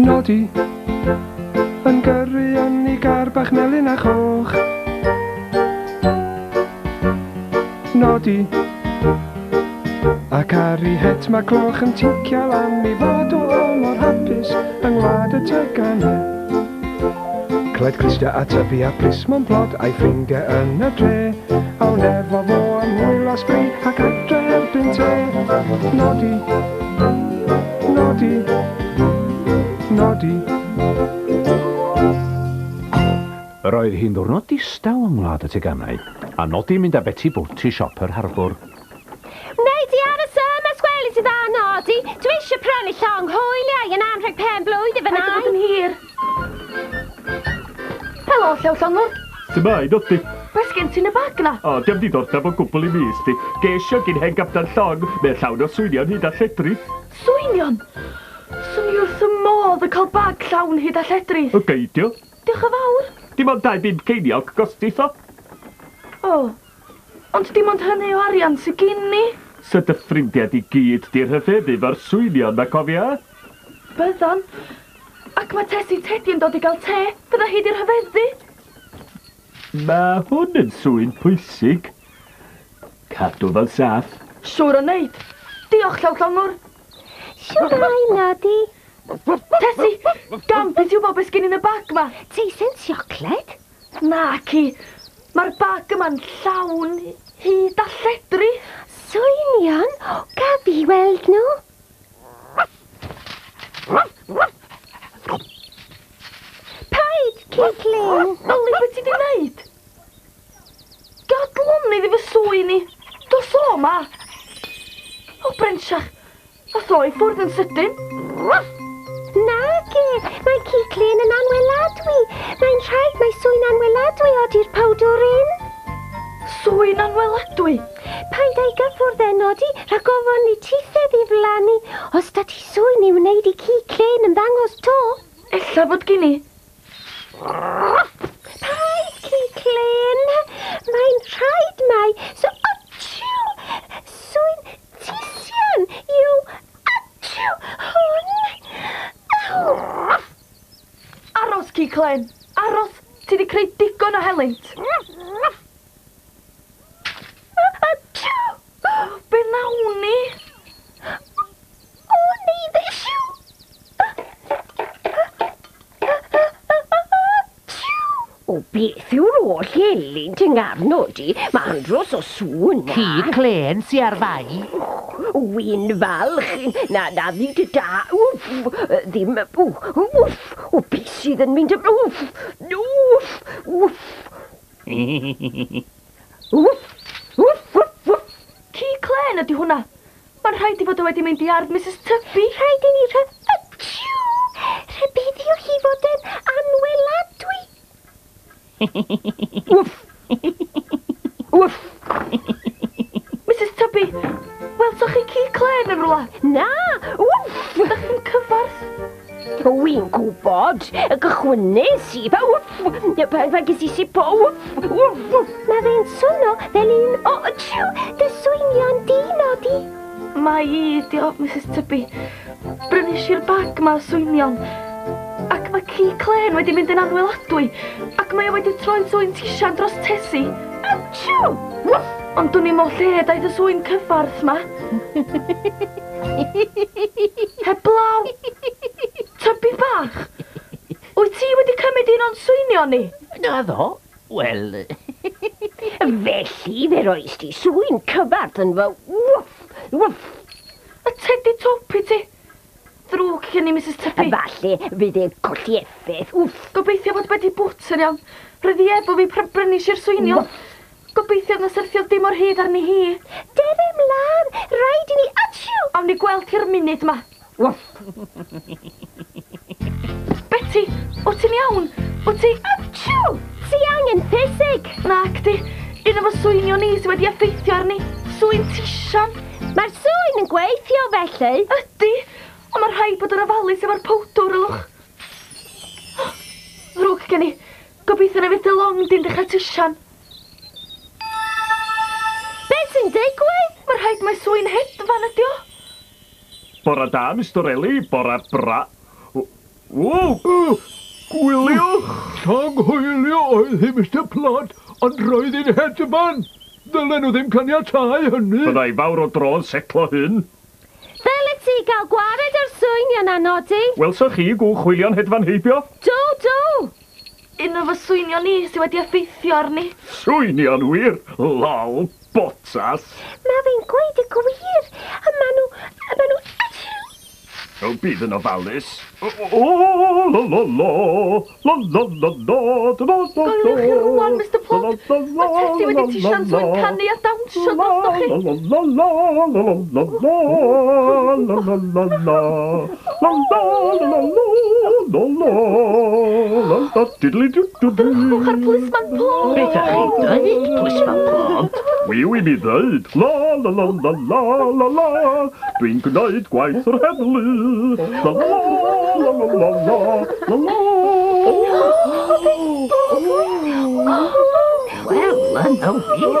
Nodi yn gyrru yn ei gar bach melyn a choch. Nodi ac ar ei het mae cloch yn tincial am ei fod o mor hapus yng ngwlad y teganau. Cled clustia a tyfu a plismon plod a'i ffrindiau yn y dre. Awn efo fo am hwyl a sbri ac adre erbyn te. Nodi, nodi, nodi. Yr oedd hi'n ddiwrnod distaw yng Ngwlad y Teganau, a Nodi'n mynd â Beti Bwt i siop yr harbwr. Wnei di aros yma os gweli di dda, Nodi? Dwi eisiau prynu llong hwyliau yn anrheg pen blwydd i fy Paid â nain. bod yn hir. Helo, Llew Llongwr. Shwmae, Nodi? Be sgen ti yn y bag 'na? O, dio'm diddordeb o gwbl i mi, sdi. Ges i o gin hen gapten llong. Mae o'n llawn o swynion hyd a lledrith. Swynion? Swn i wrth fy modd yn cael bag llawn hyd a lledrith. O, geidio. Diolch yn fawr. Dim ond 2 bump ceiniog gostith o. O, ond dim ond hynny o arian sy gin i. Sa dy ffrindiau di gyd 'di rhyfeddu 'fo'r swynion 'ma, cofia? Byddan. Ac mae Tessie Teddy yn dod i gael te. Bydda hi 'di rhyfeddu. Mae hwn yn sŵyn pwysig. Cadw fo'n saff. Siŵr o wneud. Diolch, Llew Llongwr. Shwmae, Nodi? Tessie, gamp i ti wybod beth sgin i yn y bag 'ma. Teisen siocled? Naci. Mae'r bag yma'n llawn hud a lledrith. Swynion? Gaf fi weld nhw? Paid, ci clên. Yli, beth ti 'di wneud? Gad lonydd i fy sŵyn i. Dos o 'ma. O, Brensiach, ath o i ffwrdd yn sydyn. Nage, mae ci clên yn anweladwy. Mae'n rhaid mai sŵyn anweladwy odi'r powdwryn. Sŵyn anweladwy? Paid â'i gyffwrdd e, Nodi, rhag ofon i tithe ddiflannu. Os da ti sŵyn i wneud i ci clên ymddangos 'to. Ella fod gin i. Paid, ci clên. Mae'n rhaid mai so atsiw! Sŵyn tisian yw atsiw hwn. Aw! Aros, ci clên. Aros! Ti 'di creu digon o helynt. Atsiw! Be wnawn ni? O, neu ddesiw! O, beth yw'r holl helynt yng ngarn di? Mae andros o sŵn na. Ci clên sy ar fai. Wy'n falch na na ddid y da. Wff! Ddim... Wff! O, beth sydd yn mynd... Wff! Wff! Wff! Wff! Wff! Wff! Wff! Ci clên ydy hwnna. Mae'n rhaid i fod o wedi mynd i ardd Misus Tubby. Rhaid i ni rhy... Atsiw! Rhybuddio hi fod yn anweladwy. Wff! Wff! Misus Tubby, welsoch chi ci clên yn rhywle? Na! Wff! Dach chi'n cyfarth? Wy'n gwybod, y gychwynnes i, fa wff, pan ges i sipo, wff, wff, wff. Mae fe'n swno fel un o, tsiw, dy swynion di, Nodi. Mae i, diolch, Misus Tubby. Brynis i'r bag 'ma o swynion. Ac mae ci clên wedi mynd yn anweladwy, ac mae o wedi troi'n sŵyn tisian dros Tessie. Atsiw! Wff! Ond dwn i'm o lle daeth y sŵyn cyffarth 'ma. Heblaw! Tubby bach! Wyt ti wedi cymryd un o'n swynion ni? Naddo. Wel... Felly fe roes di sŵyn cyfarth yn fy wff, wff. Y tedi twp i ti. Ddrwg gen i, Misus Tubby. Falle fydd e'n colli effaith, wff. Gobeithio bod Betty Bwt yn iawn. Roedd hi efo fi pan brynis i'r swynion. Gobeithio na syrthiodd dim o'r hud arni hi. Dere mlaen, rhaid i ni... Atsiw! Awn ni gweld hi'r munud 'ma. Wff. Betty, wyt ti'n iawn? Wyt ti... Atsiw! Ti angen ffisig! Nac di. Un o fy swynion i sydd wedi effeithio arni. Sŵyn tisian. Mae'r sŵyn yn gweithio felly. Ydy, ond mae rhaid bod yn ofalus efo'r powdwr, ylwch. Ddrwg gen i. Gobeithio na fydd dy long di'n dechrau tisian. Beth sy'n digwydd? Mae'r Mae rhaid mai swyn hedfan ydi o. Bora da, Mr Eli, bora bra... O, gwyliwch! Llong hwylio oedd hi, Mr Plod, ond roedd hi'n hedfan. Ddylen nhw ddim caniatáu hynny. Byddai fawr o dro yn setlo hyn. Ddylet ti gael gwared o'r swynion na, Nodi. Welsoch chi gwch hwylio'n hedfan heibio? Do, do! Un o fy swynion i sydd wedi effeithio arni. Swynion wir? Lol, botas. Mae fe'n gweud y gwir. A maen nhw... O, bydd yn ofalus. O, la la la, la la la la, la la la. Goeliwch chi rwan, Mr Plod. Mae Tessie wedi tisian swyn canu a dawnsio drostoch chi. La la la la, la la la la, la la la la, la la la la, la la la la, diddly dw dw dw. Drychwch ar Plisman Plod. Beth ydych chi'n dweud, Plisman Plod? Wiw i mi ddeud, la la la la la la la, dwi'n gwneud gwaith yr heddlu. La la la la la la la la. Wel, yna wir.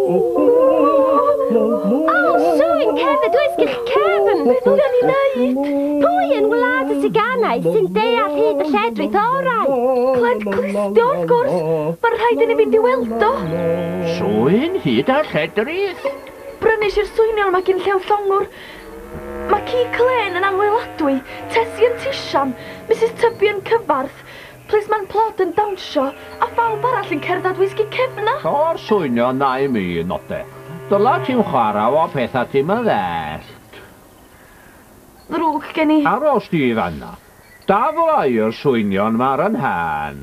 O, swyn cerdded wisg eich cefn. Beth ddylen ni wneud? Pwy yn wlad y teganau sy'n deall hyd y lledrith orau? Cled Clustio, wrth gwrs. Mae'n rhaid i ni fynd i weld o. Swyn hyd a lledrith? Brynis i'r swynion mae gyn Llew Llongwr. Mae ci Clên yn anwyladwy, Tessie yn tisian, Mrs Tubby yn cyfarth, Plisman Plod yn dawnsio, a phawb arall yn cerdded wisgi cefna. O'r swynion na i mi, node. Dyla ti'n chwarae o pethau ti'n yn ddell. Ddrwg gen i. Aros di fanna. Dafla i'r swynion ma'r yn han.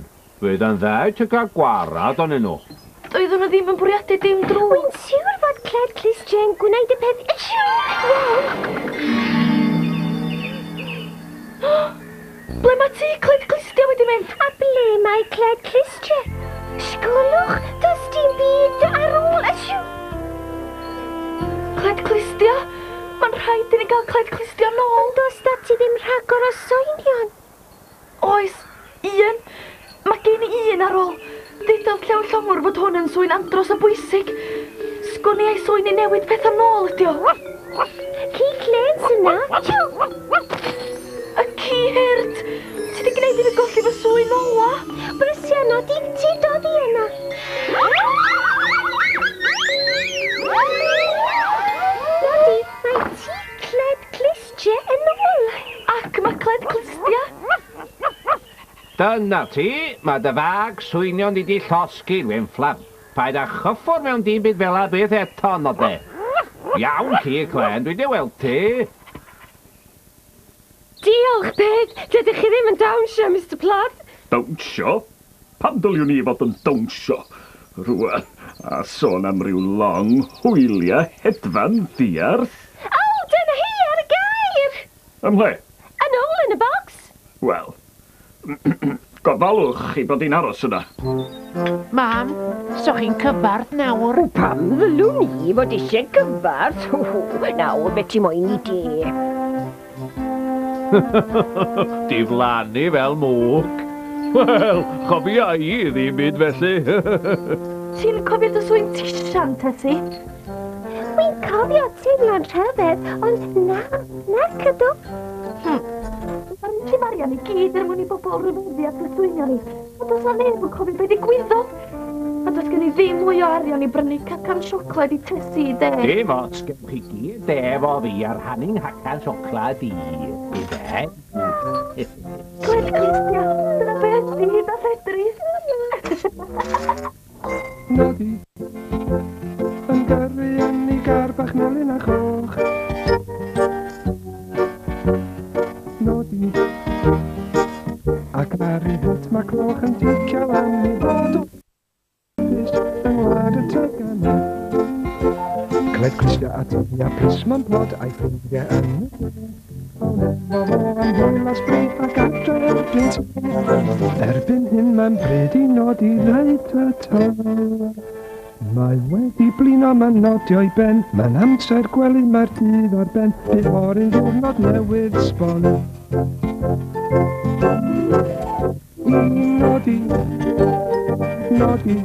Fydd yn dda i ti gael gwarad onyn nhw. Doeddwn nhw ddim yn bwriadu dim drwg. Wy'n siŵr fod Cled Clustiau'n gwneud y peth... Iawn! Ble mae ti, Cled Clustia, wedi mynd? A ble mae Cled Clustia? Sgwlwch, does dim byd ar ôl. Cled Clustia? Mae'n rhaid i ni gael Cled Clustia nôl. Ond does da ti ddim rhagor o swynion? Oes, un. Mae gen i un ar ôl. Deudodd Llew Llongwr fod hwn yn swyn andros o bwysig. Sgwn i ai swyn i newid pethau nôl ydi o. Ci Clên sy'n na. Y ci hurt! Ti di gwneud i fi golli fy swyn ola. Brysia Nodi, ti dod i yna. Nodi, mae ti Cled Clustia yn ôl. Ac mae Cled Clustia. Dyna ti, mae dy fag swynion di llosgi, Wynfflam. Paid â chyffwrdd mewn dim byd fel a beth eto, node. Iawn ci, Clên, dwi di weld ti. Diolch, Peg. Dydych chi ddim yn dawnsio, Mr Plod. Dawnsio? Pam dyliwn i fod yn dawnsio? Rwan, a sôn am ryw long hwyliau hedfan ddiarth. O, dyna hi ar y gair! Ymhle? Yn ôl yn y bocs. Wel, gofalwch chi bod hi'n aros yna. Mam, so chi'n cyfarth nawr? O, pam ddylwn i fod eisiau cyfarth? Nawr, beth ti moyn i de? Diflannu fel mwg. Wel, chofia i ddim byd felly. Ti'n cofio dy swyn tisian, Tessie? Wy'n cofio teimlo'n rhyfedd, ond na, nac ydw. Mae'n llifarian i gyd er mwyn i bobl ryfeddu at y swynion ni. A does na neb yn cofio beth ddigwyddodd. A does gen i ddim mwy o arian i brynu cacan siocled i Tessie i de. Dim ots, gewch chi gyd de efo fi ar rhannu'n hacan siocled i. I de. Cled Clustia, dyna beth di hyd a lledrith. Nodi, yn gyrru yn ei gar bach melyn a choch. Nodi, ac ar ei het mae cloch yn ticio lan i fod o yng ngwlad y teganau. Cled Clustia a Tybia Plisman Plod a'i ffrindiau yn y am hwyl a sbri ac adre erbyn te. Erbyn hyn mae'n bryd i nodi ddeud ta ta. Mae wedi blino, mae'n nodio'i ben. Mae'n amser gwely, mae'r dydd ar ben. Bydd fory'n ddiwrnod newydd sbon. Nodi, nodi.